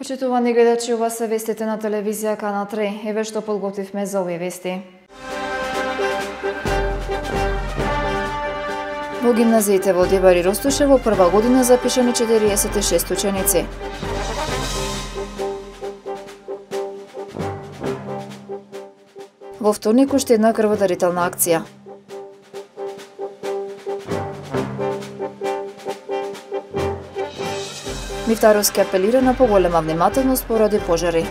Почитувани гледачи, ова се вестите на телевизија Канал 3. Еве што подготвивме за овие вести. Во гимназиите во Дебар и Ростуше во прва година запишани 46 ученици. Во вторник уште една крводарителна акција. Мифтаровски апелира на поголема внимателност поради пожари.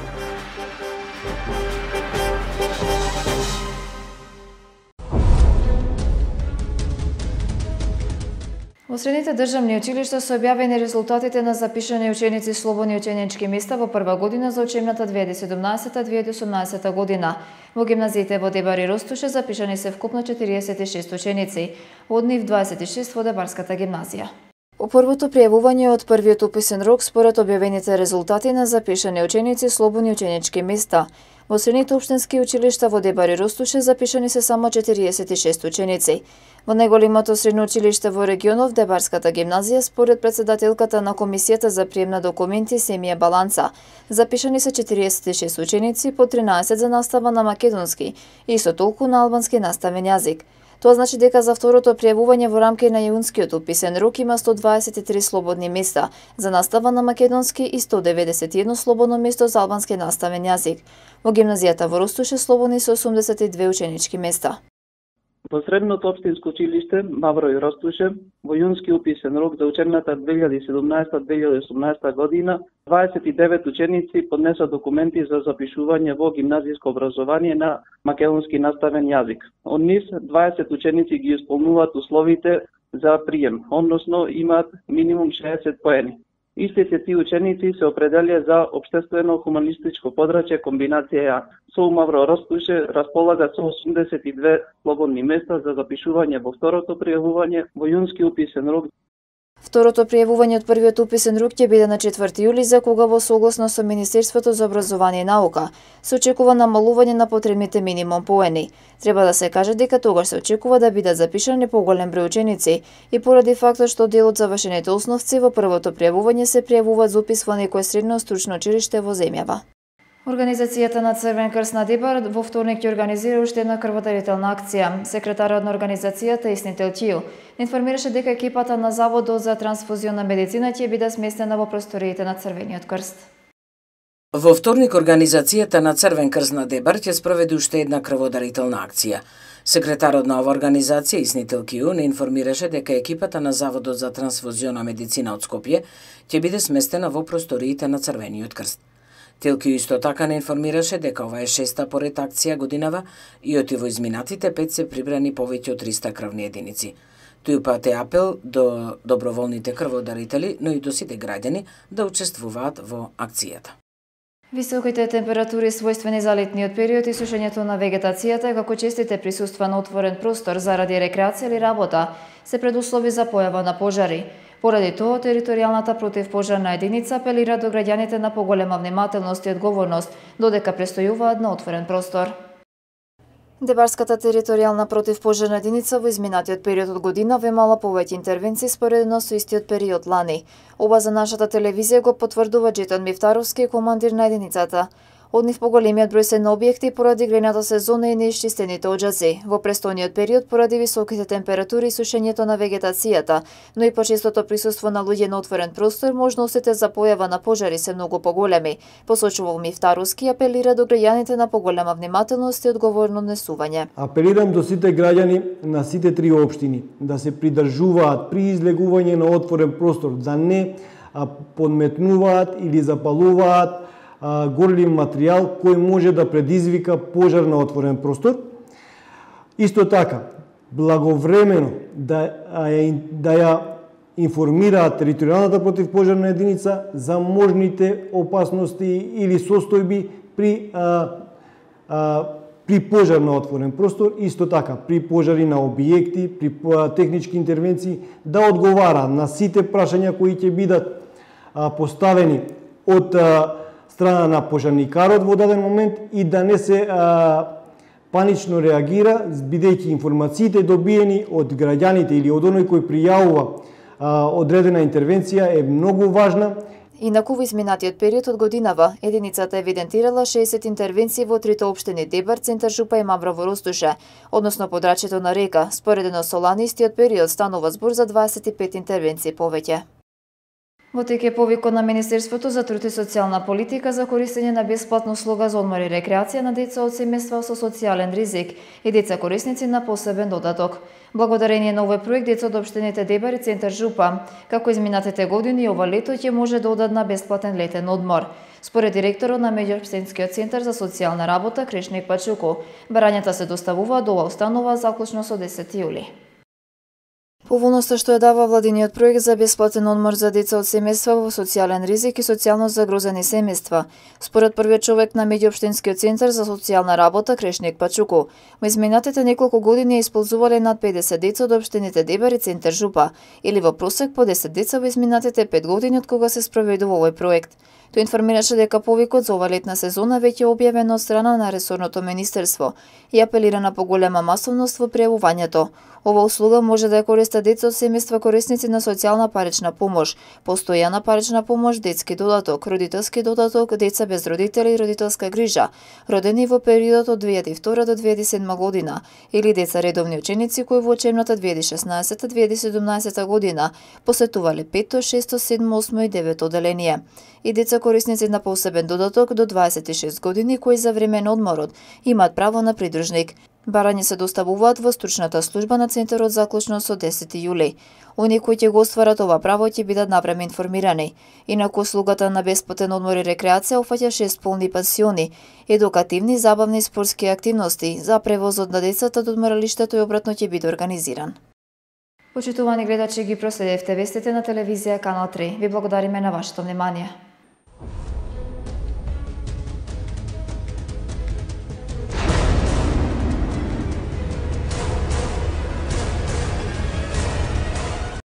Во средните државни училишта се објавени резултатите на запишани ученици слободни ученички места во прва година за учебната 2017-2018 година. Во гимназиите во Дебар и Ростуше запишани се вкупно 46 ученици, од нив 26 во Дебарската гимназија. По првото пријавување од првиот уписен рок според објавените резултати на запишани ученици слободни ученички места. Во средните општински училишта во Дебар и Ростуше запишани се само 46 ученици. Во најголемото средно училиште во регионов, Дебарската гимназија, според председателката на Комисијата за прием на документи Семија Баланца, запишани се 46 ученици, по 13 за настава на македонски и исто толку на албански наставен јазик. Тоа значи дека за второто пријавување во рамки на јунскиот уписен рок има 123 слободни места за настава на македонски и 191 слободно место за албански наставен јазик. Во гимназијата во Ростуше слободни се 82 ученички места. Во средното општинско училиште Мавро и Ростуше, во јунски уписен рок за учебната 2017-2018 година, 29 ученици поднеса документи за запишување во гимназиско образование на македонски наставен јазик. Од нив 20 ученици ги исполнуваат условите за прием, односно имаат минимум 60 поени. Истите тие ученици се определија за општествено-хуманистичко подрачје комбинација Ја. СОУ Мавро Ростуше располага со 82 слободни места за запишување во второто пријавување во јунски уписен рок. Второто пријавување од првиот уписен рок ќе биде на 4 јули, за кога во согласно со Министерството за образование и наука се очекува намалување на потребните минимум поени. Треба да се каже дека тогаш се очекува да бидат запишани поголем број ученици и поради фактот што дел од завршените основци во првото пријавување се пријавуваат за упис во некое средно стручно училиште во земјава. Организацијата на Црвен крст на Дебар во вторник ќе организира уште една крводарителна акција. Секретарот на организацијата Исни Телкију информираше дека екипата на Заводот за трансфузионна медицина ќе биде сместена во просториите на Црвениот крст. Во вторник организацијата на Црвен крст на Дебар ќе спроведе уште една крводарителна акција. Секретарот на ова организација Исни Телкију не информираше дека екипата на Заводот за трансфузионна медицина од Скопје ќе биде сместена во просториите на Црвениот крст. Телкију исто така не информираше дека ова е шеста поред акција годинава и од во изминатите 5 се прибрани повеќе од 300 крвни единици. Тој упати апел до доброволните крводарители, но и до сите граѓани да учествуваат во акцијата. Високите температури својствени за летниот период и сушењето на вегетацијата, како честите присуства на отворен простор заради рекреација или работа, се предуслови за појава на пожари. Поради тоа, територијалната противпожарна единица апелира до граѓаните на поголема внимателност и одговорност, додека престојуваат на отворен простор. Дебарската територијална противпожарна единица во изминатиот период од година имала повеќе интервенции споредно со истиот период лани. Ова за нашата телевизија го потврдува Джетон Мифтаровски, командир на единицата. Од нив поголемиот број се на објекти поради грејната сезона и неисчистените оџаци, во престојниот период поради високите температури и сушењето на вегетацијата, но и почестото присуство на луѓе на отворен простор, можностите за појава на пожари се многу поголеми, посочува Мифтаровски и апелира до граѓаните на поголема внимателност и одговорно однесување. Апелирам до сите граѓани на сите три општини да се придржуваат при излегување на отворен простор, да не подметнуваат или запалуваат горлив материјал кој може да предизвика пожар на отворен простор. Исто така, благовремено да ја информираат територијалната противпожарна единица за можните опасности или состојби при пожар на отворен простор, исто така при пожари на објекти, при технички интервенции, да одговара на сите прашања кои ќе бидат поставени од страна на пожарникарот во даден момент и да не се панично реагира, бидејќи информациите добиени од граѓаните или од оној кој пријавува одредена интервенција е многу важна. Инаку во изминатиот период од годинава, единицата евидентирала 60 интервенции во трите општини Дебар, Центар Жупа и Маврово Ростуше, односно подрачјето на река. Споредено со лани истиот период станува збор за 25 интервенции повеќе. Во тек е повикот на Министерството за труд и социјална политика за користење на бесплатна услуга за одмор и рекреација на деца од семејства со социјален ризик и деца корисници на посебен додаток. Благодарение на овој проект, деца од општините Дебар и Центар Жупа, како изминатите години и ова лето ќе може да одат на бесплатен летен одмор. Според директорот на Меѓуопштинскиот центар за социјална работа Крешник Пачуко, барањата се доставуваат до ова установа заклучно со 10 јули. Поволноста што ја дава владиниот проект за бесплатен одмор за деца од семејства во социјален ризик и социјално загрозени семејства, според првиот човек на Меѓуопштинскиот центар за социјална работа Крешник Пачуко, во изминатите неколку години исползувале над 50 деца од општините Дебар и Центар Жупа, или во просек по 10 деца во изминатите 5 години од кога се спроведува овој проект. Тој информираше дека повикот за ова летна сезона веќе е објавен од страна на ресорното министерство и апелира на поголема масовност во пријавувањето. Ова услуга може да ја користат деца од семејства корисници на социјална парична помош, постојана парична помош, детски додаток, родителски додаток, деца без родители и родителска грижа, родени во периодот од 2002 до 2007 година, или деца редовни ученици кои во учебната 2016-2017 година посетувале 5, 6, 7, 8 и 9 оделение, и деца корисници на посебен додаток до 26 години кои за време на одморот имаат право на придружник. Барања се доставуваат во стручната служба на центарот заклучно со 10 јули. Оние кои ќе го остварат ова право ќе бидат навреме информирани. Инаку услугата на бесплатен одмор и рекреација опфаќа 6 полни пансиони, едукативни, забавни и спортски активности, за превозот на децата до одморалиштето и обратно ќе биде организиран. Почитувани гледачи, ги проследевте вестите на телевизија Канал 3. Ви благодариме на вашето внимание.